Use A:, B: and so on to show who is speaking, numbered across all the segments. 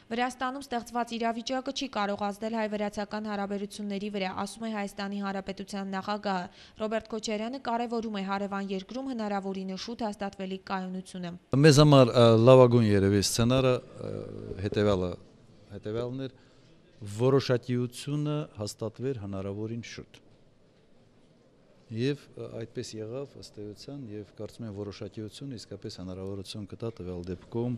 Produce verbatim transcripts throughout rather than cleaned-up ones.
A: Վրաստանում ստեղծված իրավիճակը չի կարող ազդել հայ-վրացական հարաբերությունների վրա, ասում է Հայաստանի Հանրապետության նախագահը։ Ռոբերտ Քոչարյանը կարևորում է հարևան երկրում հնարավորինս շուտ հաստատվելիք կայունությունը։
B: Մեզ համար լավագույն երևի սցենարը հետևյալը հետևյալն էր, որոշակիությունը հաստատվեր հնարավորին շուտ։ Եվ այդպես եղավ ըստ էության, եւ կարծում եմ որոշակիությունը իսկապես հնարավորություն կտա տվյալ դեպքում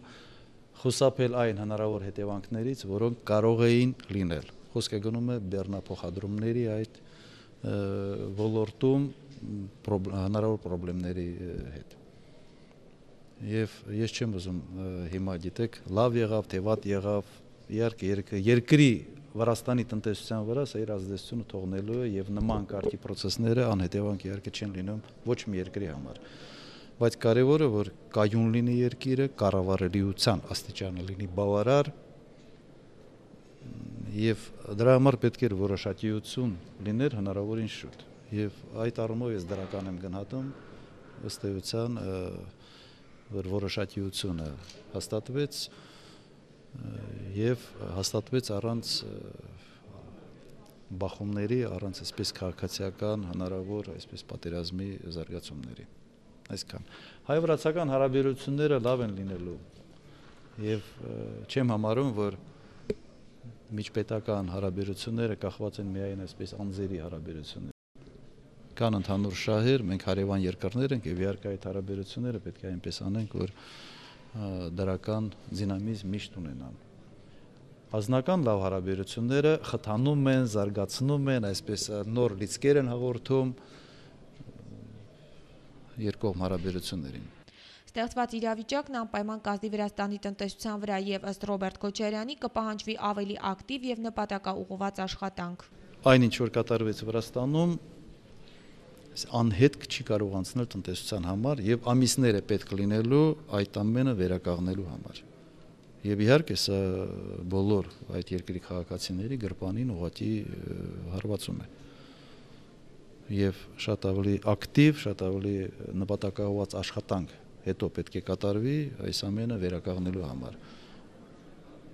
B: խուսափել այն հնարավոր հետևանքներից, որոնք կարող էին լինել։ Խոսքը գնում է բեռնափոխադրումների այդ ոլորտում հնարավոր խնդիրների հետ։ Եվ ես չեմ ուզում հիմա գիտեք, լավ եղավ, թե վատ եղավ, իհարկե երկրի Վրաստանի տնտեսության վրա սա իր ազդեցությունը թողնելու է եւ նման կարգի process-ները անհետևանք իհարկե չեն լինում ոչ մի երկրի համար։ Բայց կարևորը որ կայուն լինի երկիրը, կառավարելիության աստիճանը լինի բավարար եւ դրա համար պետք է որոշակիություն լիներ հնարավորին շուտ։ Եվ այդ առումով ես դրական եմ գնահատում ըստ էության որ որոշակիությունը հաստատվեց եւ հաստատվեց առանց բախումների, առանց այսպես քաղաքացիական հնարավոր այսպես պատերազմի զարգացումների։ Այսքան։ Հայ-վրացական հարաբերությունները լավ են լինելու եւ չեմ համարում, որ միջպետական հարաբերությունները կախված են միայն այսպես անձերի հարաբերություններից։ Կան ընդհանուր շահեր, մենք հարևան երկրներ ենք եւ իհարկե այդ հարաբերությունները պետք է այնպես անենք, որ դրական դինամիզմ միշտ ունենան։ Ազնական լավ հարաբերությունները խթանում են, զարգացնում են, այսպես նոր լիցքեր են հաղորդում երկկողմ հարաբերություններին։
A: Ստեղծված իրավիճակն անպայման կազդի Վրաստանի տնտեսության վրա եւ ըստ Ռոբերտ Քոչարյանի կպահանջվի ավելի ակտիվ եւ նպատակաուղղված աշխատանք։
B: Այն ինչ որ կատարվեց Վրաստանում անհետք չի կարող անցնել տնտեսության համար եւ ամիսները պետք լինելու այդ ամենը վերականգնելու համար։ Եվ իհարկե սա բոլոր այդ երկրի քաղաքացիների գրպանին ուղղակի հարվածում է։ Եվ շատ ավելի ակտիվ, շատ ավելի նպատակաուղղված աշխատանք հետո պետք է կատարվի այս ամենը վերականգնելու համար։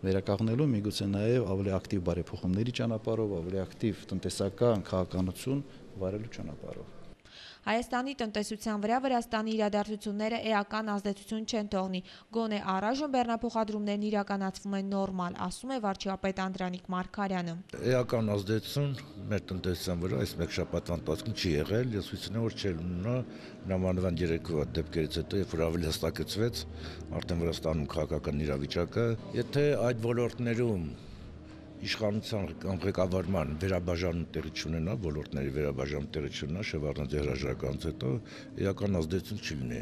B: Վերականգնելու միգուցե նաեւ ավելի ակտիվ բարեփոխումների ճանապարհով, ավելի ակտիվ տնտեսական քաղաքականություն վարելու ճանապարհով։
A: Հայաստանի տնտեսության վրա Վրաստանի իրադարձությունները էական ազդեցություն չեն թողնի, գոնե առայժմ բեռնափոխադրումներն իրականացվում են նորմալ, ասում է վարչապետ Անդրանիկ Մարգարյանը։
C: Էական ազդեցություն մեր տնտեսության վրա այս մեկ շաբաթվա ընթացքում չի եղել, ես հույս ունեմ, որ չէր ունենա նամանավան երեկվա դեպքերից հետո, երբ որ ավելի հստակեցվեց արդեն Վրաստանում քաղաքական իրավիճակը, եթե այդ ոլորտներում իշխանության ղեկավարման վերաբաժանում տեղի չունենա, ոլորտների վերաբաժանում տեղի չունենա, Շևարդնաձե հրաժարականից հետո էական ազդեցություն չլինի։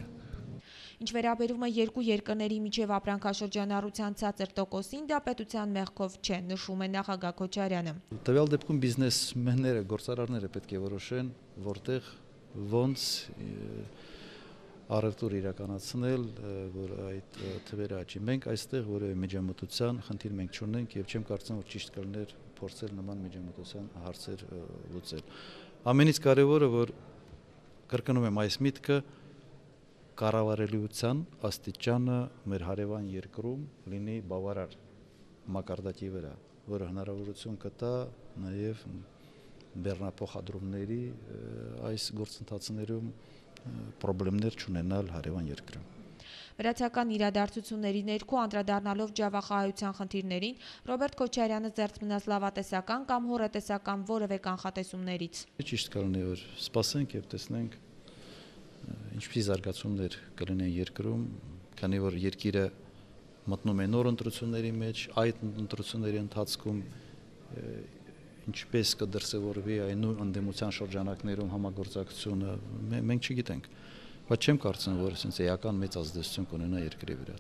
A: Ինչ վերաբերում է երկու երկրների միջև ապրանքաշրջանառության ցածր տոկոսին, դա պետության մեղքով չէ, նշում է նախագահ Քոչարյանը։
B: Տվյալ դեպքում բիզնեսմենները, գործարարները պետք է որոշեն, որտեղ ոնց առևտուր իրականացնել, որ այդ թվերը աճի։ Մենք այստեղ որևէ միջամտության խնդիր մենք չունենք եւ չեմ կարծում, որ ճիշտ կլիներ փորձել նման միջամտության հարցեր լուծել։ Ամենից կարևորը, որ կրկնում եմ այս միտքը, կառավարելիության աստիճանը մեր հարևան երկրում լինի բավարար մակարդակի վրա, որը հնարավորություն կտա նաեւ բեռնափոխադրումների այս գործընթացներում պրոբլեմներ չունենալ հարևան երկրում։
A: Վրացական իրադարձությունների ներքո անդրադառնալով ջավախահայության խնդիրներին, Ռոբերտ Քոչարյանը զերծ մնաց լավատեսական կամ հոռետեսական որևէ կանխատեսումներից։
B: Ճիշտ կլինի, որ սպասենք եւ տեսնենք ինչպիսի զարգացումներ կլինեն երկրում, քանի որ երկիրը մտնում է նոր ընտրությունների մեջ, այդ ընտրությունների ընթացքում ինչպես կդրսևորվի այն նույն ընդդիմության շրջանակներում համագործակցությունը մենք չգիտենք, բայց չեմ կարծում, որ այսպես էական մեծ ազդեցություն կունենա երկրի վրա։